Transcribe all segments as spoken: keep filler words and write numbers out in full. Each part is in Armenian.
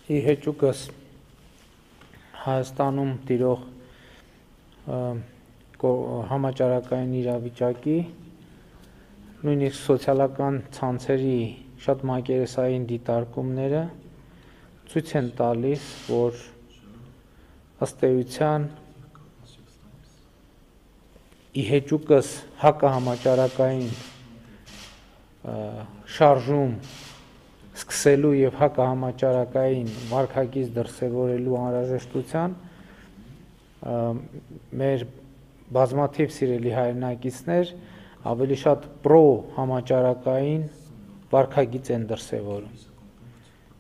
ի հեճուկս Հայաստանում տիրող համաճարակային իրավիճակի, նույնիսկ սոցիալական ցանցերի շատ մակերեսային դիտարկումները ցույց են տալիս, որ ըստ էության ի հեճուկս հակահամաճարակային շարժում սկսելու եւ հակահամաճարակային վարքագիծ դրսեւորելու անհրաժեշտության մեր բազմաթիվ սիրելի հայրենակիցներ ավելի շատ պրո համաճարակային վարքագիծ են դրսևորում։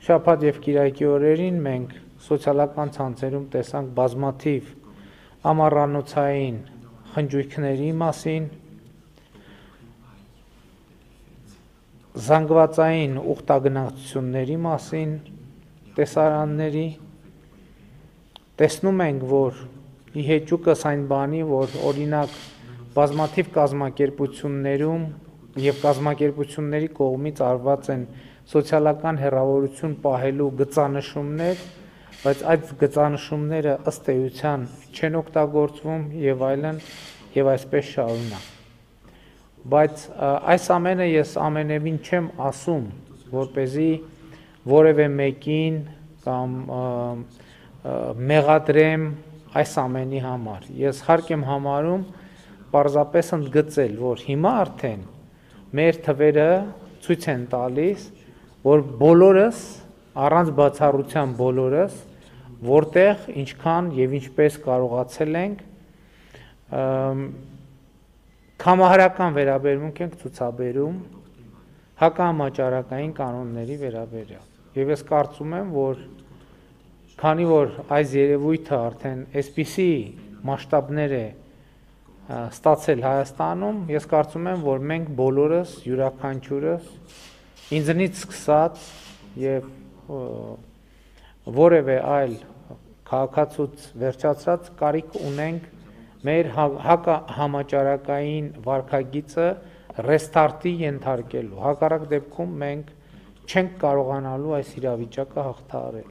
Շաբաթ եւ կիրակի օրերին մենք սոցիալական ցանցերում տեսանք բազմաթիվ ամառանոցային խնջույքների մասին, զանգվածային ուխտագնացությունների մասին, տեսարանների, տեսնում ենք, որ ի հեճուկս այն բանի, որ օրինակ բազմաթիվ կազմակերպություններում եւ կազմակերպությունների կողմից արված են սոցիալական հեռավորություն պահելու գծանշումներ, բայց այդ գծանշումները ըստ էության չեն օգտագործվում եւ այլն եւ այսպես շարունակ։ Բայց այս ամենը ես ամենևին չեմ ասում, որպեսզի որևէ մեկին կամ մեղադրեմ այս ամենի համար։ Ես հարկ եմ համարում պարզապես ընդգծել, որ հիմա արդեն մեր թվերը ցույց են տալիս, որ բոլորս, առանց բացառության բոլորս, որտեղ ինչքան եւ ինչպես կարողացել ենք կամահարական վերաբերմունք ենք ցուցաբերում հակահամաճարակային կանոնների վերաբերյալ։ Եվ ես կարծում եմ, որ քանի որ այս երևույթը արդեն այսպիսի մասշտաբներ է ստացել Հայաստանում, ես կարծում եմ, որ մենք բոլորս յուրաքանչյուրս ինձնից սկսած եւ որևէ այլ քաղաքացուց վերջացած կարիք ունենք մեր հակահամաճարակային վարքագիծը ռեստարտի ենթարկելու։ Հակառակ դեպքում մենք չենք կարողանալու այս իրավիճակը հաղթահարել։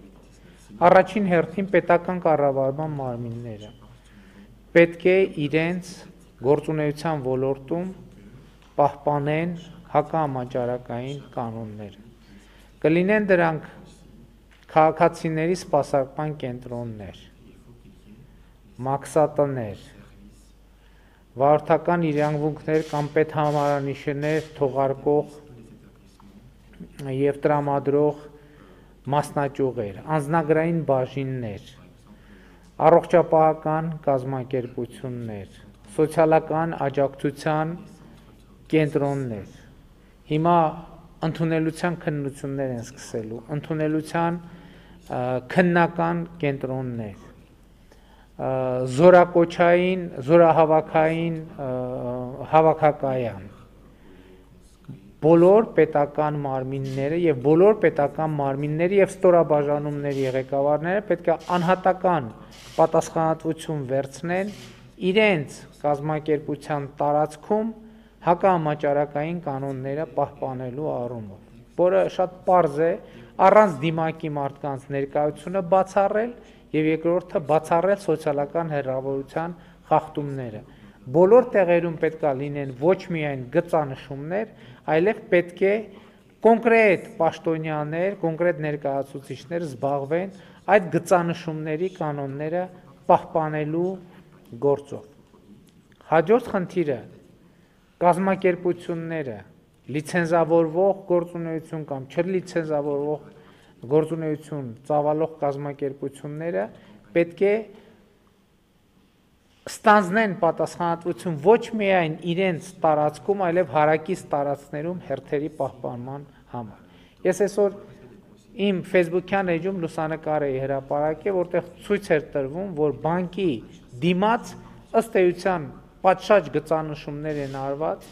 Առաջին հերթին պետական կառավարման մարմինները պետք է իրենց գործունեության ոլորտում պահպանեն հակահամաճարակային կանոնները։ Կլինեն դրանք քաղաքացիների սպասարկման կենտրոններ, մաքսատներ, վարորդական իրավունքներ կամ պետհամարանիշներ թողարկող եւ տրամադրող մասնաճյուղեր, անձնագրային բաժիններ, առողջապահական կազմակերպություններ, սոցիալական աջակցության կենտրոններ։ Հիմա ընդունելության քննություններ են սկսելու, ընդունելության քննական կենտրոններ, զորակոչային, զորահավաքային հավաքակայան, բոլոր պետական մարմինները եւ բոլոր պետական մարմինների եւ ստորաբաժանումների ղեկավարները պետք է անհատական պատասխանատվություն վերցնեն իրենց կազմակերպության տարածքում հակահամաճարակային կանոնները պահպանելու առումով, որը շատ պարզ է, առանց դիմակի մարդկանց ներկայությունը բացառել եւ երկրորդը բացառել սոցիալական հեռավորության խախտումները։ Բոլոր տեղերում պետք է լինեն ոչ միայն գծանշումներ, այլև պետք է կոնկրետ պաշտոնյաներ, կոնկրետ ներկայացուցիչներ զբաղվեն այդ գծանշումների կանոնները պահպանելու գործով։ Հաջորդ խնդիրը կազմակերպությունները լիցենզավորվող գործունեություն կամ չլիցենզավորվող գործունեություն ծավալող կազմակերպությունները պետք է ստանձնեն պատասխանատվություն ոչ միայն իրենց տարածքում, այլև հարակից տարածքներում հերթերի պահպանման համար։ Ես այսօր իմ Facebook-յան էջում լուսանկար էի հրապարակել, որտեղ ցույց էր տրվում, որ բանկի դիմաց ըստ էության պատշաճ գծանշումներ են արված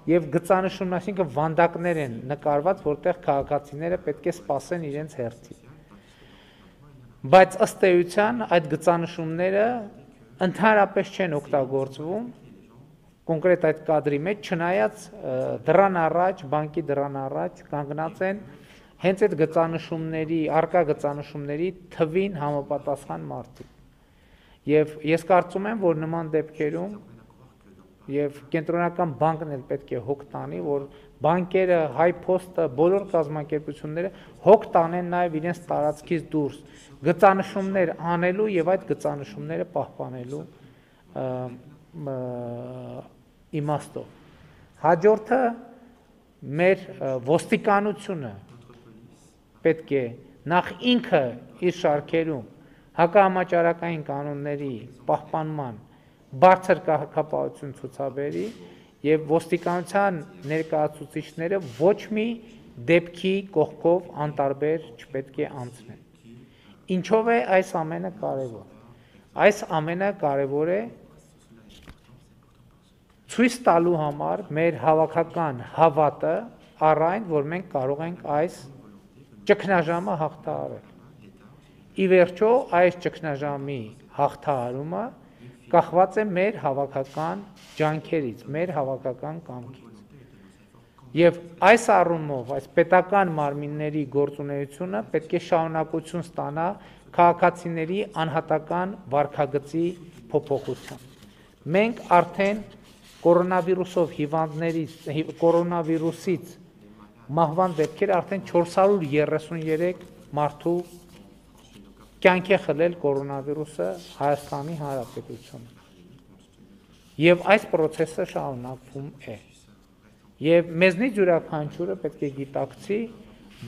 եւ գծանշումն, այսինքն վանդակներ են նկարված, որտեղ քաղաքացիները պետք է սպասեն իրենց հերթին։ Բայց ըստ էության այդ գծանշումները ընդհանրապես չեն օգտագործվում կոնկրետ այդ կադրի մեջ, չնայած դրան առաջ, բանկի դրան առաջ կանգնած են հենց այդ գծանշումների, արկա գծանշումների թվին համապատասխան մարդիկ։ Եվ ես կարծում եմ, որ նման դեպքերում եւ կենտրոնական բանկն էլ պետք է հոգ տանի, որ բանկերը, հայ փոստը, բոլոր կազմակերպությունները հոգ տանեն նաեւ իրենց տարածքից դուրս գծանշումներ անելու եւ այդ գծանշումները պահպանելու իմաստով։ Հաջորդը մեր ոստիկանությունը պետք է նախ ինքը իր շարքերում հակահամաճարակային կանոնների պահպանման բարձր կարգապահություն ցուցաբերի եւ ոստիկանության ներկայացուցիչները ոչ մի դեպքի կողքով անտարբեր չպետք է անցնեն։ Ինչով է այս ամենը կարևոր։ Այս ամենը կարևոր է ցույց տալու համար մեր հավաքական հավատը առ այն, որ մենք կարող ենք այս ճգնաժամը հաղթահարել։ Ի վերջո այս ճգնաժամի հաղթահարումը կախված է մեր հավաքական ջանքերից, մեր հավաքական կամքից։ Եվ այս առումով, այս պետական մարմինների գործունեությունը պետք է շարունակություն ստանա քաղաքացիների անհատական վարքագծի փոփոխությամբ։ Մենք արդեն կորոնավիրուսով հիվանդներից, կորոնավիրուսից մահվան դեպքեր արդեն չորս հարյուր երեսուներեք մարդու կյանք է խլել կորոնավիրուսը Հայաստանի Հանրապետությունը։ Եվ այս process-ը շարունակվում է։ Եվ մեզնից յուրաքանչյուրը պետք է գիտակցի,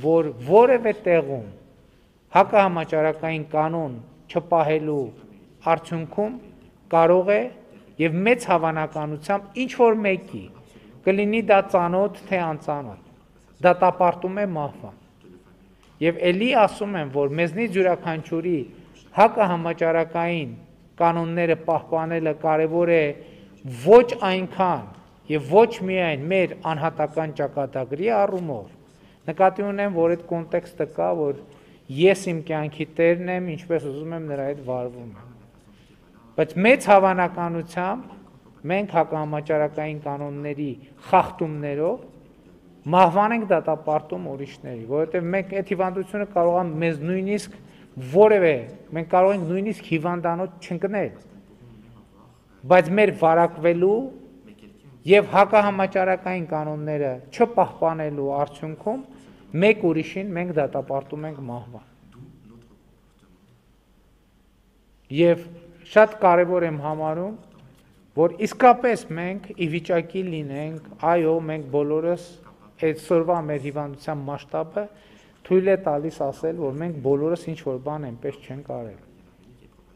որ որևէ տեղում հակահամաճարակային կանոն չպահելու արդյունքում կարող է եւ մեծ հավանականությամբ ինչ որ մեկի կլինի դա ծանոթ թե անծանոթ, դատապարտում է մահվան։ Եվ ելի ասում եմ, որ մեզնից յուրաքանչյուրի հակահամաճարակային կանոնները պահպանելը կարևոր է ոչ այնքան եւ ոչ միայն մեր անհատական ճակատագրի առումով, նկատի ունեմ, որ այդ կոնտեքստը կա, որ ես իմ կյանքի տերն եմ, ինչպես ուզում եմ նրա հետ վարվում եմ։ Բայց մեծ հավանականությամբ մենք հակահամաճարակային կանոնների խախտումներով մահվան ենք դատապարտում ուրիշների, որովհետև մենք այդ հիվանդությունը կարող է մեզ նույնիսկ որևէ, մենք կարող ենք նույնիսկ հիվանդանոց չընկնել, բայց մեր վարակվելու եւ հակահամաճարակային կանոնները չպահպանելու արդյունքում մեկ ուրիշին մենք դատապարտում ենք մահվան։ Եվ շատ կարևոր եմ համարում, որ իսկապես մենք ի վիճակի լինենք, այո, մենք բոլորս այդ սորվա մեր հիվանդության մասշտաբը թույլ է տալիս ասել, որ մենք բոլորս ինչ որ բան այնպես չենք արել։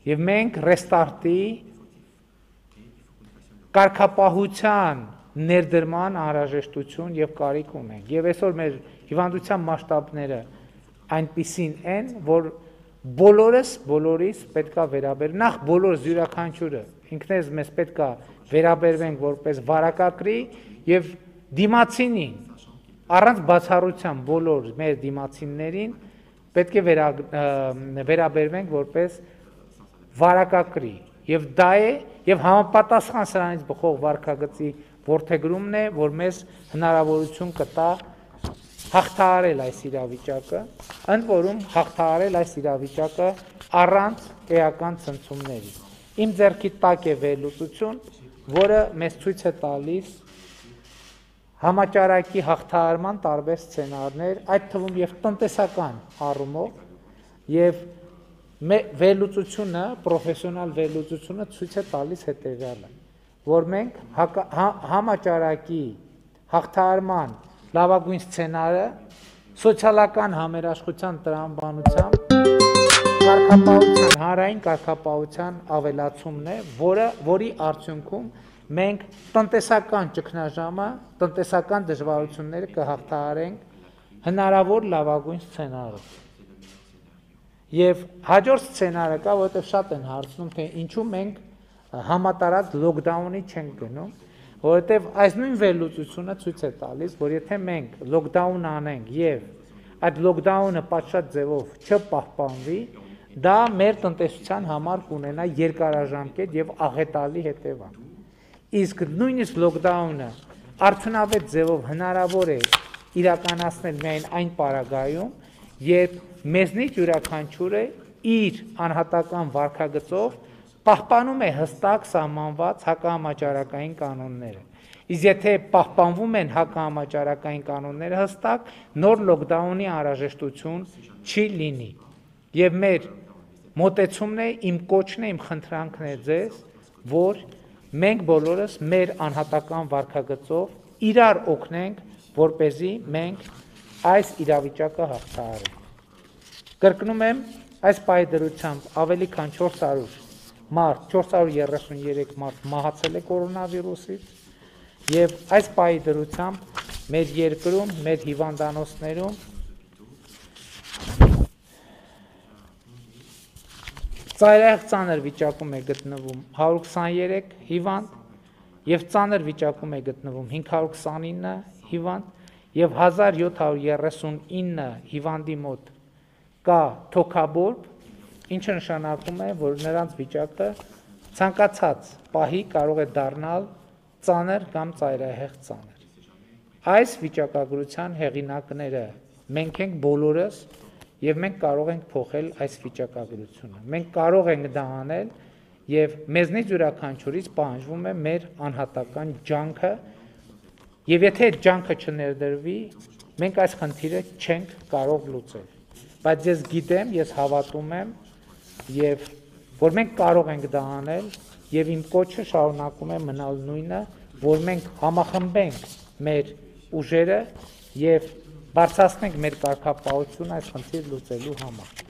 Եվ մենք ռեստարտի կարգապահության ներդրման անհրաժեշտություն եւ կարիք ունենք։ Եվ այսօր մեր հիվանդության մասշտաբները այնպիսին են, որ բոլորս բոլորիս պետքա վերաբերել, նախ բոլորս յուրաքանչյուրը ինքնես մեզ պետքա վերաբերվենք որպես վարակակրի եւ դիմացինին առանց բացառության բոլոր մեր դիմացիններին պետք է վերա, վերաբերվենք որպես վարակակրի եւ դա է եւ համապատասխան սրանից բխող վարքագծի որդեգրումն է, որ մեզ հնարավորություն կտա հաղթահարել այս իրավիճակը, ընդ որում հաղթահարել այս իրավիճակը առանց էական ցնցումների։ Իմ ձեռքի տակ է վերլուծություն, որը մեզ ցույց է տալիս համաճարակի հաղթահարման տարբեր սցենարներ, այդ թվում եւ տնտեսական առումով, եւ վերլուծությունը, պրոֆեսիոնալ վերլուծությունը ցույց է տալիս հետեւյալը, որ մենք համաճարակի հաղթահարման լավագույն սցենարը սոցիալական համերաշխության տրամաբանությամբ կարգապահության, հանրային կարգապահության ավելացումն է, որը, որի արդյունքում մենք տնտեսական ճգնաժամը, տնտեսական դժվարությունները կհաղթահարենք հնարավոր լավագույն սցենարով։ Եվ հաջորդ սցենարը կա, որովհետև շատ են հարցնում, թե ինչու մենք համատարած լոկդաունի չենք գնում, որովհետև այս նույն վերլուծությունը ցույց է տալիս, որ եթե մենք լոկդաուն անենք եւ այդ լոկդաունը պատշաճ ձևով չպահպանվի, դա մեր տնտեսության համար կունենա երկարաժամկետ եւ աղետալի հետևանք։ Իսկ նույնիսկ լոկդաունը արդյունավետ ձևով հնարավոր է իրականացնել միայն այն պարագայում, երբ մեզնից յուրաքանչյուրը իր անհատական վարքագծով պահպանում է հստակ սահմանված հակահամաճարակային կանոնները։ Իսկ եթե պահպանվում են հակահամաճարակային կանոնները հստակ, նոր լոկդաունի անհրաժեշտություն չի լինի։ Եվ մեր մոտեցումն է, իմ կոչն է, իմ խնդրանքն է ձեզ, որ մենք բոլորս մեր անհատական վարքագծով իրար օգնենք, որպեսզի մենք այս իրավիճակը հաղթահարենք։ Կրկնում եմ, այս պայդրությամբ ավելի քան չորս հարյուր մարդ, չորս հարյուր երեսուններեք մարդ մահացել է կորոնավիրուսից, եւ այս պայդրությամբ մեր երկրում, մեր հիվանդանոցներում ծայրահեղ ծանր վիճակում է գտնվում հարյուր քսաներեք հիվանդ եւ ծանր վիճակում է գտնվում հինգ հարյուր քսանինը հիվանդ եւ հազար յոթ հարյուր երեսունինը հիվանդի մոտ կա թոքաբորբ, ինչը նշանակում է, որ նրանց վիճակը ցանկացած պահի կարող է դառնալ ծանր կամ ծայրահեղ ծանր։ Այս վիճակագրության հեղինակները մենք ենք բոլորս եւ մենք կարող ենք փոխել այս վիճակագրությունը։ Մենք կարող ենք դա անել եւ մեզնից յուրաքանչյուրից պահանջվում է մեր անհատական ջանքը եւ եթե այդ ջանքը չներդրվի, մենք այս խնդիրը չենք կարող լուծել։ Բայց ես գիտեմ, ես հավատում եմ եւ որ մենք կարող ենք դա անել եւ իմ կոչը շարունակում է մնալ նույնը, որ մենք համախմբենք մեր ուժերը եւ բարձրացնենք մեր կարգապահությունը այս խնդիրը լուծելու համար։